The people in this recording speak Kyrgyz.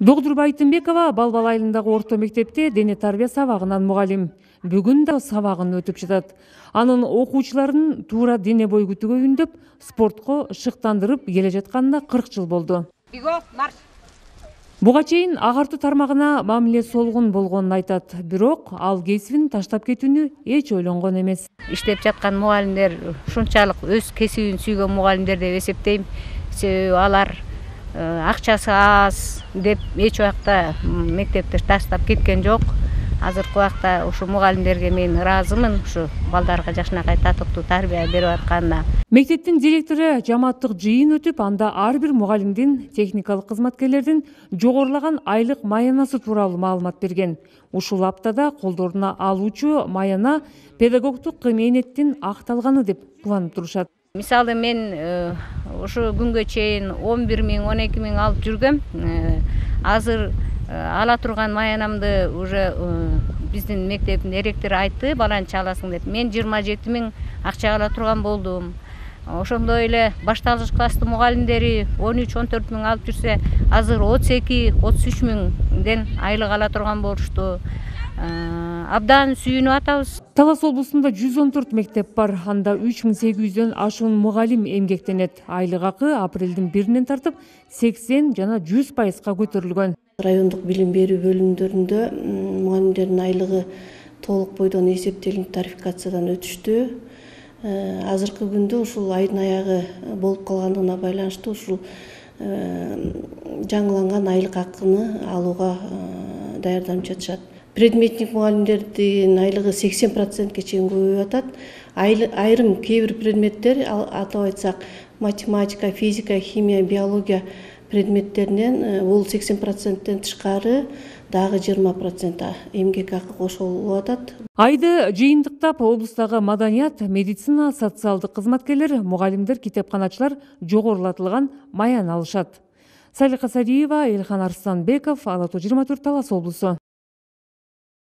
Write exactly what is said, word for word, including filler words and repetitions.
Догдур Байтымбекова Балбал айылындагы орто мектепте дене тарбия сабагынан мугалим. Бүгүн да сабагын өтүп жатат. Анын окуучуларын туура дене бой күтүүгө үндөп, спортко шыктандырып келе жатканына кырк жыл болду. Буга чейин агартуу тармагына мамиле солгун болгонун айтат, бирок ал кесибин таштап кетүүнү эч ойлонгон эмес. Иштеп жаткан мугалимдер ушунчалык өз кесибин сүйгөн мугалимдер деп эсептейм. Себеби алар акчасы аз деп эч убакта мектепти таштап кеткен жок. Азыркы убакта ушу мугалимдерге мен ыраазымын, ушу балдарга жакшынакай татыктуу тарбия берип атканына. Мектептин директору жамааттык жыйын өтүп, анда ар бир мугалимдин, техникалык кызматкерлердин жогорулаган айлык маянасы тууралуу маалымат берген. Ушул аптада колдоруна алуучу маяна педагогдук мээнеттин акталганы деп кубанып турушат. Мисалы мен ушу күнгө чейин он бир миң, он эки миң алып жүргөм. Азыр ала турган маянамды уже биздин мектептин директору айтты, баланча аласың деп. Мен жыйырма жети миң акча ала турган болдум. Ошондой эле башталгыч класстын мугалимдери он үч, он төрт миң алып жүрсө, азыр отуз эки, отуз үч миңден айлык ала турган болушту. Абдан сүйүнүп атабыз. Талас облусунда жүз он төрт мектеп бар. Анда үч миң сегиз жүздөн ашуун мугалим эмгектенет. Айлык акы апрелдин биринен тартып сексен жана жүз пайызга көтөрүлгөн. Райондук билим берүү бөлүмдөрүндө мугалимдердин айлыгы толук бойдон эсептелип тарификациядан өтүштү. Азыркы күндө ушул айдын аягы болуп калгандыгына байланыштуу ушул жаңыланган айлык акыны алууга даярданып жатышат. Предметник мугалимдердин айлыгы сексен процентке чейин көбөйүп атат. Айрым кээ бир предметтер, атап айтсак, математика, физика, химия, биология предметтеринен бул сексен проценттен тышкары дагы жыйырма процент эмгек акы кошулуп атат. Айды жыйынтыктап облустагы маданият, медицина, социалдык кызматкерлер, мугалимдер, китепканачылар жогорулатылган маяны алышат. Салика Садиева, Элхан Арстанбеков, Ала тоо жыйырма төрт, Талас облусу.